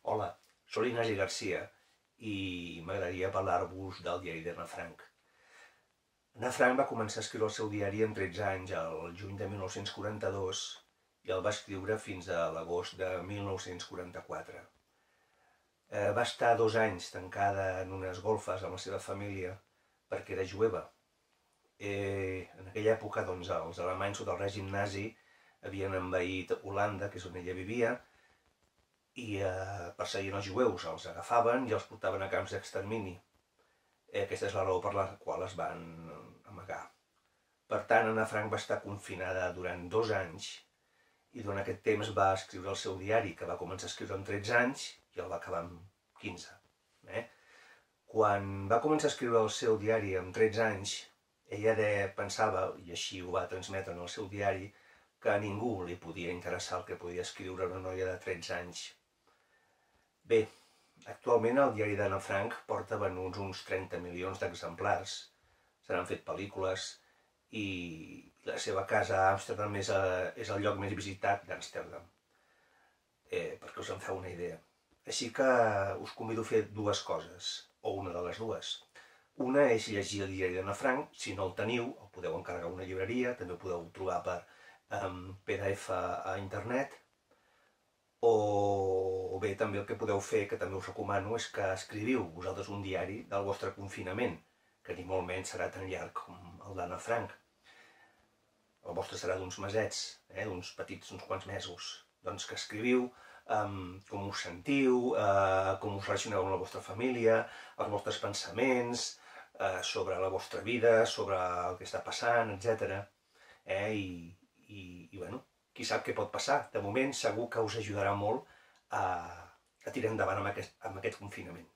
Hola, soc Ignasi Garcia i m'agradaria parlar-vos del diari d'Anna Frank. Anna Frank va començar a escriure el seu diari amb 13 anys, el juny de 1942, i el va escriure fins a l'agost de 1944. Va estar 2 anys tancada en unes golfes amb la seva família perquè era jueva. En aquella època, doncs, els alemanys sota el règim nazi havien envaït Holanda, que és on ella vivia, i perseguint els jueus, els agafaven i els portaven a camps d'extermini. Aquesta és la raó per la qual es van amagar. Per tant, Anna Frank va estar confinada durant 2 anys i durant aquest temps va escriure el seu diari, que va començar a escriure amb 13 anys i el va acabar amb 15. Quan va començar a escriure el seu diari amb 13 anys, ella pensava, i així ho va transmetre en el seu diari, que a ningú li podia interessar el que podia escriure una noia de 13 anys. Bé, actualment el diari d'Anna Frank porta venuts uns 30 milions d'exemplars. Se n'han fet pel·lícules i la seva casa a Amsterdam és el lloc més visitat d'Amsterdam, perquè us en feu una idea. Així que us convido a fer 2 coses, o una de les 2. Una és llegir el diari d'Anna Frank. Si no el teniu, el podeu encarregar a una llibreria, també ho podeu trobar per PDF a internet, o bé també el que podeu fer, que també us recomano, és que escriviu vosaltres un diari del vostre confinament, que ni molt menys serà tan llarg com el d'Anna Frank. El vostre serà d'uns mesets, d'uns quants mesos. Doncs que escriviu com us sentiu, com us relacioneu amb la vostra família, els vostres pensaments, sobre la vostra vida, sobre el que està passant, etc. I bueno, qui sap què pot passar. De moment segur que us ajudarà molt a tirar endavant amb aquest confinament.